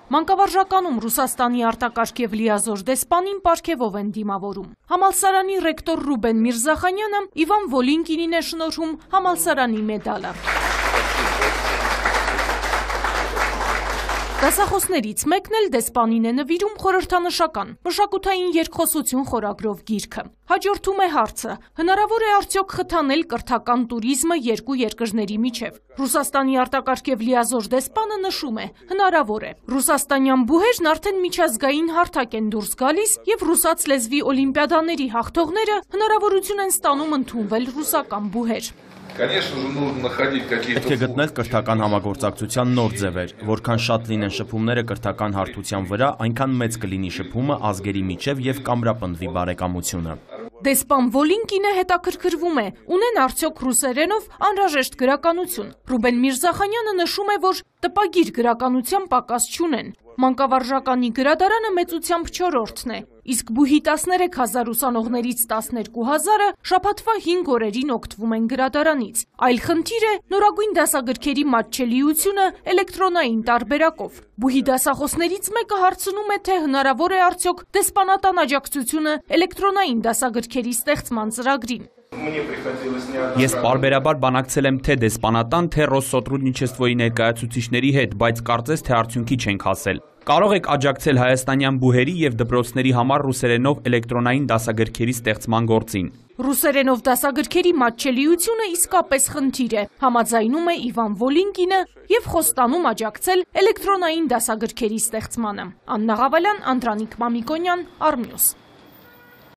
Մանկավարժականում Ռուսաստանի արտակարգ և լիազոր դեսպանին պարգևով են դիմավորում։ Համալսարանի ռեկտոր Ռուբեն Միրզախանյանը Իվան Վոլինկինին է շնորհում համալսարանի մեդալը։ Դասախոսներից մեկն էլ դեսպանին է նվիրում խորհրդանշական մշակութային երկխոսություն խորագրով գիրքը։ Հաջորդում է հարցը. հնարավոր է արդյոք խթանել կրթական տուրիզմը երկու երկրների միջև։ Ռուսաստանի արտակարգ և լիազոր դեսպանը նշում է. հնարավոր է։ Ռուսաստանյան բուհերն արդեն միջազգային հարթակ են դուրս գալիս և ռուսաց լեզվի օլիմպիադաների հաղթողները հնարավորություն են ստանում ընդունվել ռուսական բուհեր։ Պետք է գտնել կրթական համագործակցության նոր ձևեր, որքան շատ լինեն շփումները կրթական հարթության վրա, այնքան մեծ կլինի շփումը ազգերի միջև և կամրապնդվի բարեկամությունը։ Դեսպան Վոլինկինը հետաքրքրվում է, ունեն արդյոք ռուսերենով անհրաժեշտ գրականություն։ Ռուբեն Միրզախանյանը նշում է, որ տպագիր գրականության պակաս չունեն։ Մանկավարժականի գրադարանը մեծությամբ 4-րդն է, իսկ բուհի 13,000 ուսանողներից 12,000-ը շաբաթվա 5 օրերին օգտվում են գրադարանից։ Այլ խնդիր է նորագույն դասագրքերի մատչելիությունը էլեկտրոնային տարբերակով։ Բուհի դասախոսներից մեկը հարցնում է, թե հնարավոր է արդյոք դեսպանատան աջակցությունը էլեկտրոնային դասագրքերի ստեղծման ծրագրին։ Ես պարբերաբար բանակցել եմ թե դեսպանատան, թե Ռոսսոտրուդնիչեստվոյի ներկայացուցիչների հետ, բայց կարծես թե արդյունքի չենք հասել։ Կարող եք աջակցել հայաստանյան բուհերի և դպրոցների համար ռուսերենով էլեկտրոնային դասագրքերի ստեղծման գործին։ Ռուսերենով դասագրքերի մատչելիությունը իսկապես խնդիր է, համաձայնում է Իվան Վոլինկինը և խոստանում աջակցել էլեկտրոնային դասագրքերի ստեղծմանը։ Աննա Ղավալյան, Անդրանիկ Մամիկոնյան, Արմնյուս։